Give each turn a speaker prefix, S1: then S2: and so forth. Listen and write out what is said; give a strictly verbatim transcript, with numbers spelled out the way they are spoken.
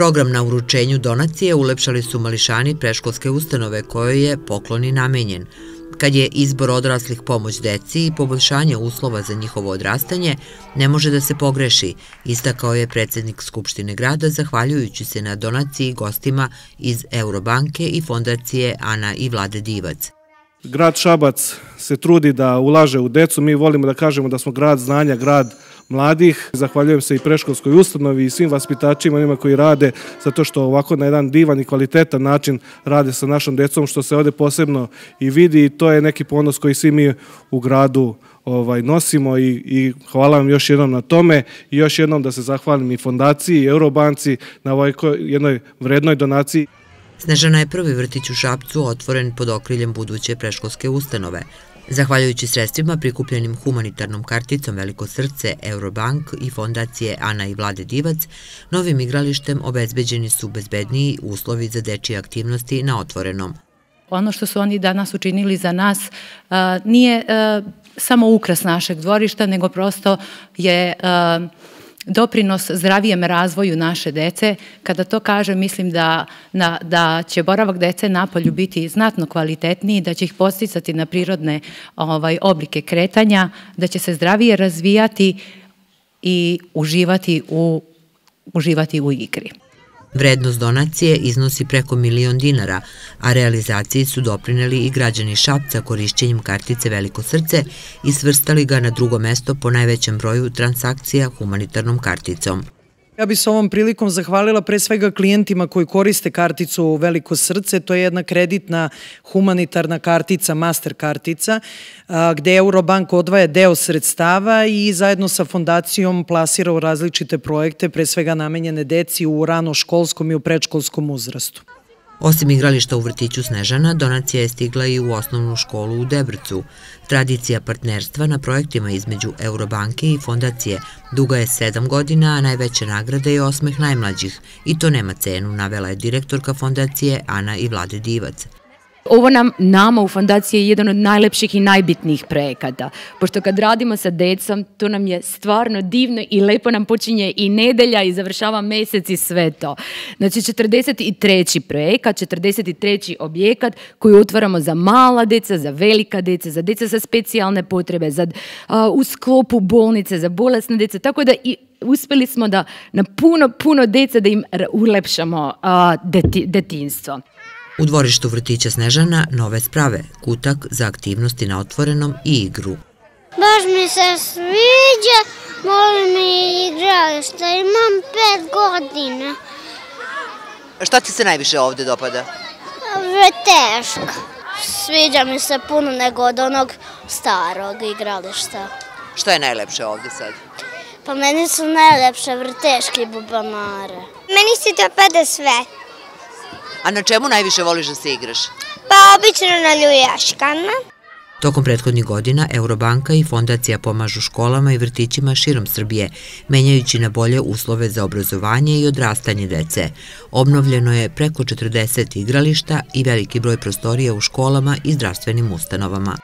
S1: Program na uručenju donacije ulepšali su mališani predškolske ustanove kojoj je poklon i namenjen. Kad je izbor odraslih pomoć deci i poboljšanje uslova za njihovo odrastanje, ne može da se pogreši, istakao je predsjednik Skupštine grada zahvaljujući se na donaciji gostima iz Eurobanke i fondacije Ana i Vlade Divac.
S2: Grad Šabac se trudi da ulaže u decu, mi volimo da kažemo da smo grad znanja, grad mladih. Zahvaljujem se i predškolskoj ustanovi i svim vaspitačima, onima koji rade, zato što ovako na jedan divan i kvalitetan način rade sa našom decom, što se ovdje posebno i vidi, i to je neki ponos koji svi mi u gradu ovaj, nosimo i, i hvala vam još jednom na tome i još jednom da se zahvalim i fondaciji i Eurobanci na ovoj jednoj vrednoj donaciji.
S1: Snežana je prvi vrtić u Šapcu otvoren pod okriljem buduće predškolske ustanove. Zahvaljujući sredstvima prikupljenim humanitarnom karticom Veliko srce, Eurobank i fondacije Ana i Vlade Divac, novim igralištem obezbeđeni su bezbedniji uslovi za dečije aktivnosti na otvorenom.
S3: Ono što su oni danas učinili za nas nije samo ukras našeg dvorišta, nego prosto je doprinos zdravijem razvoju naše dece. Kada to kažem, mislim da, na, da će boravak dece napolju biti znatno kvalitetniji, da će ih podsticati na prirodne ovaj, oblike kretanja, da će se zdravije razvijati i uživati u, uživati u igri.
S1: Vrednost donacije iznosi preko milion dinara, a realizaciji su doprineli i građani Šapca korišćenjem kartice Veliko srce i svrstali ga na drugo mesto po najvećem broju transakcija humanitarnom karticom.
S4: Ja bih se ovom prilikom zahvalila pre svega klijentima koji koriste karticu Veliko srce. To je jedna kreditna humanitarna kartica, master kartica, gde Eurobank odvaja deo sredstava i zajedno sa fondacijom plasira u različite projekte, pre svega namenjene deci u ranoškolskom i u predškolskom uzrastu.
S1: Osim igrališta u vrtiću Snežana, donacija je stigla i u osnovnu školu u Debrcu. Tradicija partnerstva na projektima između Eurobanke i fondacije duga je sedam godina, a najveća nagrada je osmeh najmlađih. I to nema cenu, navela je direktorka fondacije Ana i Vlade Divac.
S5: Ovo nam, nama u fondaciji je jedan od najlepših i najbitnijih projekata, pošto kad radimo sa decom, to nam je stvarno divno i lepo nam počinje i nedelja i završava mesec i sve to. Znači, četrdeset treći projekat, četrdeset treći objekat koji otvaramo za mala deca, za velika deca, za deca sa specijalne potrebe, za, a, u sklopu bolnice, za bolesne deca, tako da i uspjeli smo da na puno, puno deca da im ulepšamo a, deti, detinjstvo.
S1: U dvorištu vrtića Snežana nove sprave, kutak za aktivnosti na otvorenom i igru.
S6: Baš mi se sviđa, volim i igralište, imam pet godina.
S1: Šta ti se najviše ovdje dopada?
S6: Vrteška. Sviđa mi se puno nego od onog starog igrališta.
S1: Šta je najlepše ovdje sad?
S6: Pa meni su najlepše vrteške i bubanare.
S7: Meni se dopada sve.
S1: A na čemu najviše voliš da se igraš?
S7: Pa obično na ljuljaškama.
S1: Tokom prethodnih godina Eurobanka i fondacija pomažu školama i vrtićima širom Srbije, menjajući na bolje uslove za obrazovanje i odrastanje dece. Obnovljeno je preko četrdeset igrališta i veliki broj prostorija u školama i zdravstvenim ustanovama.